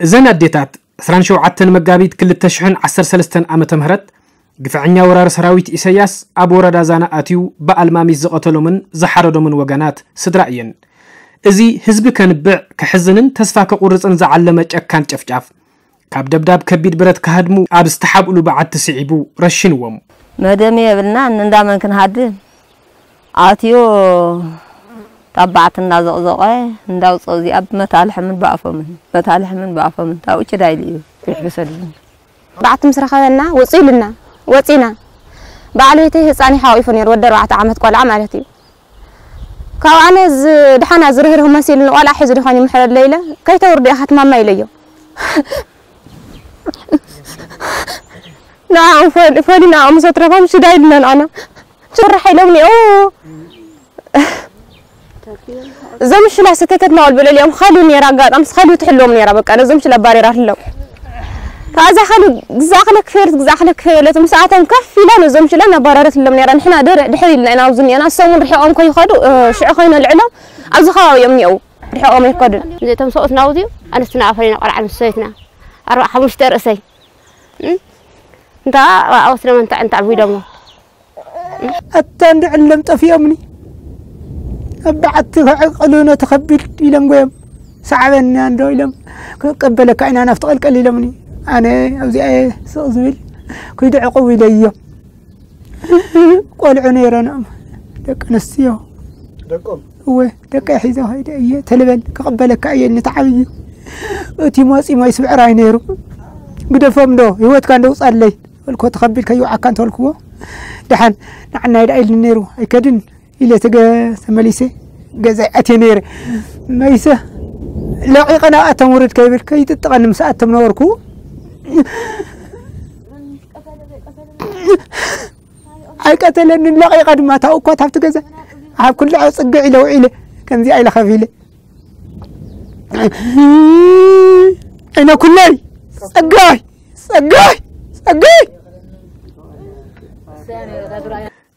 እዘን ኣዴታት ዕስራን ሸውዓተን መጋቢት ክልተ ሽሕን ዓሰርተ ሰለስተን ዓመተ ምህረት ግፍዐኛ ወራሪ ሰራዊት ኢሰያስ ኣብ ወረዳ ዛና ኣትዩ ብኣልማሚት ዝቐተሎምን ዝሓረዶምን ወገናት ስድራ እየን። እዚ ህዝቢ ከንብዕ፣ ከሕዝንን ተስፋ ከቑርጽን ዝዓለመ ጨካን ጨፍጫፍ፣ ካብ ደብዳብ ከቢድ ብረት ክሃድሙ ኣብ ዝተሓብእሉ በዓቲ ስዒቡ ረሽንዎም። መደም የብልና፣ እንዳመን ክንሃድም? ኣትዮ ታባዕት እንዳዘቕዘቐ እንዳውፀ እዚኣ ብመታልሕምን ብኣፎምን፣ መታልሕምን ብኣፎምን፣ ታውጭ ዳይል እዩ። ይሕብሰሉ። በዓቲ ምስ ረኸበና፣ ውፁ ኢሉና፣ ወፂና። በዓል ቤተይ ህፃን እዩ ሓቂፉ ነይሩ፣ ወዲ ኣርባዕተ ዓመት ቆልዓ ማለት እዩ። ካብ ኣነ ዝ-፣ ድሓና ዝርህርህ መሲሉ ንቆልዓ ሒዙ ድኾን ይምሕረለይ ኢለ፣ "ከይተውርዶ ኢኻ ትማማ" ኢለዮ። ንዕኦም ፈል-፣ ፈሊና ምስ ኣትረፎም ሽዳ ኢልና ንዓና። "ትፍራሕ" ኢሎምኒ። ኦ፣ እዞም ሽላ ሰተተትና ወልበለልኦም ኸልዩ ነይራ፣ ኣጋጣሚ ኸልዩ ትሕልዎም ነይራ። በቃ ነዞም ሽላ ኣባሪራትሎም። ካብዛ ኸልዩ ግዛእኽለ ክፈለት፣ ግዛእኽለ ክፈለት፣ ምስኣቶም ከፍ ኢላ ነዞም ሽላ ኣባረረትሎም ነይራ። ንሕና ድር-፣ ድሕር ኢልና ኢና ኣብዚ እኒአና። እሶም እውን ርሒቖም ከይኸዱ፣ እ፣ ሽዑ ከይነልዕሎም ኣብዚ ከባቢ እዮም እኒአው። ርሒቖም ኣይከዱን። እዚኣቶም ሰብኡትና ኣብዚ ኣንስትና ፈሊና ቆልዓ ምስ ሰበይትና ኣርባዓ ሓሙሽተ ርእሰይ፣ እ፣ እንታ ኣብኣ ወስዶም እንታ፣ እንታ ዓቢዶሞ። ኣታ እንድዕሎም ጠፊኦምኒ። ኣብ በዓቲ ከዕቅሉ ነቲ ከቢድ ኢሎም ጎዮም። "ሰዓበና እንዶ" ኢሎም፣ "ክንቀበለካ ኢና ናብቲ ቀልቀል" ኢሎምኒ። ኣነ ኣብዚኣ እየ ስቕ ዝብል። "ኩይዱ ዕቁብ" ኢለዮም። ቆልዑ ነይረኖም፣ ደቂ ኣንስትዮ። ደቆም? እወ፣ ደቀይ ሒዘ ከይደ እየ። "ተልበል፣ ክቕበለካ እየ" ንተዓብዩ። እቲ ሞጺ ሞይ ስብዕራይ ነይሩ። "ግደፎም ዶ፣ ህይወትካ እንደውጻለይ" በልኮ፣ "ተኸቢድ ከይውዓካ" እንተበልክዎ፣ "ደሓን ንዓናይ ደኣ" ኢልኒ ነይሩ። "ኣይከድን" ኢለ ተገ-፣ ተመሊሰ ገዛይ ኣትየ ነይረ። መይሰ ለቒቐ ናብኣቶም ውርድ ከይብል ከይጥጥቐኒ ምስ ኣቶም ነበርኩ። ኣይቀተለንን፣ ለቒቐ ድማ ታውኳት ኣብቲ ገዛ ኣብ ኩልዖ ጽግዕ ኢለ ውዒለ። ከምዚኣ ኢለ ከፊለ። እነ ኩለይ ጸጋይ፣ ጸጋይ፣ ጸጋይ።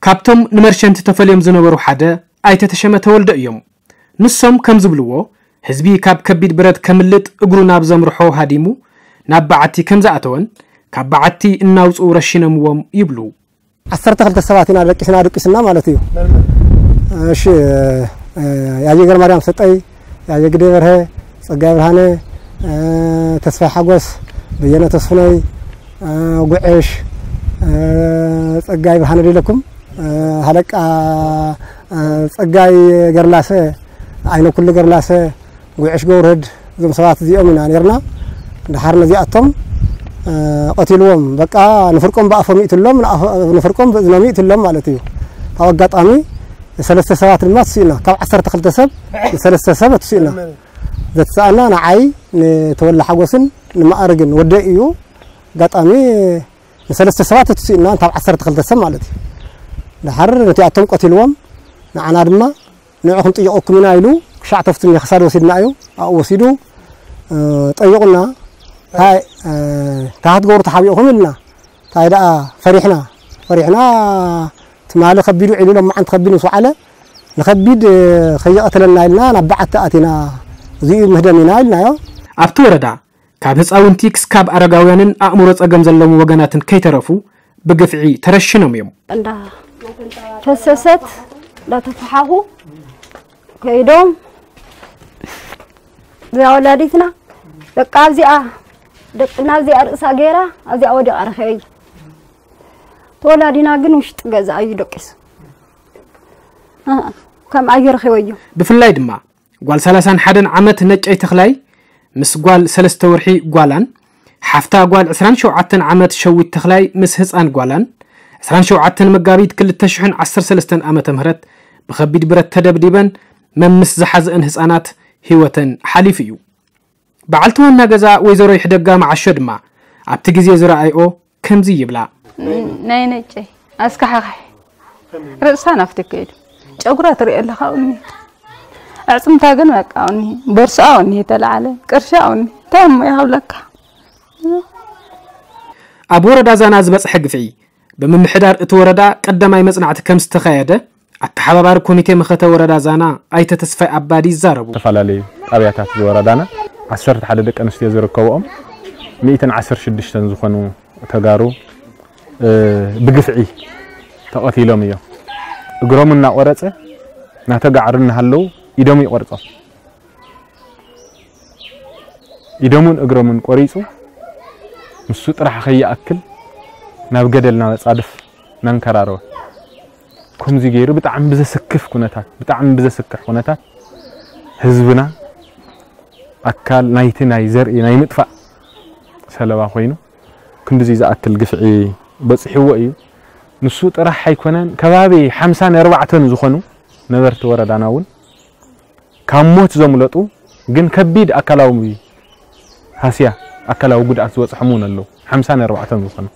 ካብቶም ንመርሸንቲ ተፈልዮም ዝነበሩ ሓደ ኣይተ ተሸመ ተወልደ እዮም። ንሶም ከም ዝብልዎ፣ ህዝቢ ካብ ከቢድ ብረት ከምልጥ እግሩ ናብ ዘምርሖ ሃዲሙ ናብ በዓቲ ከም ዝኣተወን፣ ካብ በዓቲ እናውፅኡ ረሺኖምዎም ይብሉ። ዓሰርተ ክልተ ሰባት ኢና ደቂስና፣ ደቂስና ማለት እዩ። እሺ፣ እ፣ ያየ ገረማርያም ሰጠይ፣ ያየ ግደ በርሀ፣ ጸጋይ ብርሃነ፣ እ፣ ተስፋይ ሓጎስ፣ በየነ ተስፍነይ፣ እ፣ ጉዕሽ፣ እ፣ ጸጋይ ብርሃነ ዶ ኢለኩም፣ እ፣ ሃለቃ፣ እ፣ ጸጋይ ገርላሰ፣ ዓይነ ኩሉ ገርላሰ፣ ጉዕሽ ገብርህድ፣ እዞም ሰባት እዚኦም ኢና ነርና። ድሓር ነዚኣቶም፣ እ፣ ቀቲልዎም። በቃ ንፍርቆም ብኣፎም ይእትሎም፣ ንኣፎ-፣ ንፍርቆም ብእዝኖም ይእትሎም ማለት እዩ። ካብ ኣጋጣሚ ሰለስተ ሰባት ድማ ትስኢና። ካብ ዓሰርተ ክልተ ሰብ ንሰለስተ ሰብ ትስኢና። ዘትሰኣና ንዓይ፣ ንተወላ ሓጎስን ንማእርግን ወደይ እዩ። ኣጋጣሚ ንሰለስተ ሰባት ትስኢና፣ ካብ ዓሰርተ ክልተ ሰብ ማለት እዩ። ድሓር ነቲኣቶም ቀቲልዎም፣ ንዓና ድማ ንዕኹም ጥይቐኩም ኢና ኢሉ ክሻዕ ተፍትኒ ክሳድ ወሲድና እዩ። ኣብኡ ወሲዱ፣ እ፣ ጠይቑና። እንታይ፣ እ፣ እንታይ ክትገብሩ ተሓቢእኹም ኢልና። እንታይ ደኣ ፈሪሕና፣ ፈሪሕና። ትማሊ ከቢድ ውዒሉ ሎማዓንቲ ከቢድ ምስ ወዓለ ንኸቢድ፣ እ፣ ከይቐተለና ኢልና ናብ በዓቲ ኣቲና። እዚኡ ምህደም ኢና ኢልናዮ። ኣብቲ ወረዳ ካብ ህፃውንቲ ክስካብ ኣረጋውያንን ኣእምሮ ፀገም ዘለዎም ወገናትን ከይተረፉ ብግፍዒ ተረሽኖም እዮም። እንዳ ፈሰሰት እንዳተፈሓኹ ከይዶም እዚኣ ወላዲትና በቃ ኣብዚኣ ደቅና ኣብዚኣ ርእሳ ገይራ ኣብዚኣ ወዲቓ ረኺበዮ። ተወላዲና ግን ውሽጢ ገዛ እዩ ደቂሱ። እ፣ ከም ኣየ ረኺበዮ። ብፍላይ ድማ ጓል ሰላሳን ሓደን ዓመት ነጨይ ተኽላይ ምስ ጓል ሰለስተ ወርሒ ጓላን፣ ሓፍታ ጓል ዕስራን ሸውዓተን ዓመት ሸዊት ተኽላይ ምስ ህፃን ጓላን፣ ዕስራን ሸውዓተን መጋቢት ክልተ ሽሕን ዓሰርተ ሰለስተን ዓመተ ምህረት ብኸቢድ ብረት ተደብዲበን መምስ ዝሓዘአን ህፃናት ህይወተን ሓሊፉ እዩ። በዓልቲ ዋና ገዛ ወይዘሮ ይሕደጋ መዓሾ ድማ ኣብቲ ግዜ ዝረኣይኦ ከምዚ ይብላ። ናይ ነጨይ ኣስካሕካሒ ርእሳ ናፍቲ ከይዱ ጨጉራ ትሪኦ ኣለኻ፣ እኒ ኣዕፅምታ ግን በቃ፣ እኒ ቦርስኣ፣ እኒ ተለዓለ ቅርሻ፣ እኒ እንታይ እሞ ይሃብለካ። ኣብ ወረዳ ዛና ዝበፅሐ ግፍዒ ብምምሕዳር እቲ ወረዳ ቀዳማይ መፅናዕቲ ከም ዝተኻየደ ኣተሓባባሪ ኮሚቴ መኸተ ወረዳ ዛና ኣይተ ተስፋይ ኣባዲ ይዛረቡ። ዝተፈላለዩ ጣብያታት ዝወረዳና ዓሰርተ ሓደ ደቂ ኣንስትዮ ዝርከብኦም ሚእትን ዓሰርተ ሽዱሽተን ዝኾኑ ተጋሩ ብግፍዒ ተቐቲሎም እዮም። እግሮም እናቆረፀ እናተጋዕሩ እናሃለዉ ኢዶም ይቆርፆም። ኢዶምን እግሮምን ቆሪፁ ንሱ ጥራሕ ከይኣክል ናብ ገደል ናብ ፃድፍ እናንከራረወ ከምዚ ገይሩ ብጣዕሚ ብዘስክፍ ኩነታት ብጣዕሚ ብዘስክሕ ኩነታት ህዝብና ኣካል ናይቲ ናይ ዘርኢ ናይ ምጥፋእ ሰለባ ኮይኑ ክንድዚ ዝኣክል ግፍዒ በፂሕዎ እዩ። ንሱ ጥራሕ ኣይኮነን፣ ከባቢ ሓምሳን ኣርባዕተን ዝኾኑ ነበርቲ ወረዳና እውን ካብ ሞት ዘምለጡ ግን ከቢድ ኣካላዊ ሃስያ ኣካላዊ ጉድኣት ዝበፅሖም እውን ኣለዉ። ሓምሳን ኣርባዕተን ዝኾኑ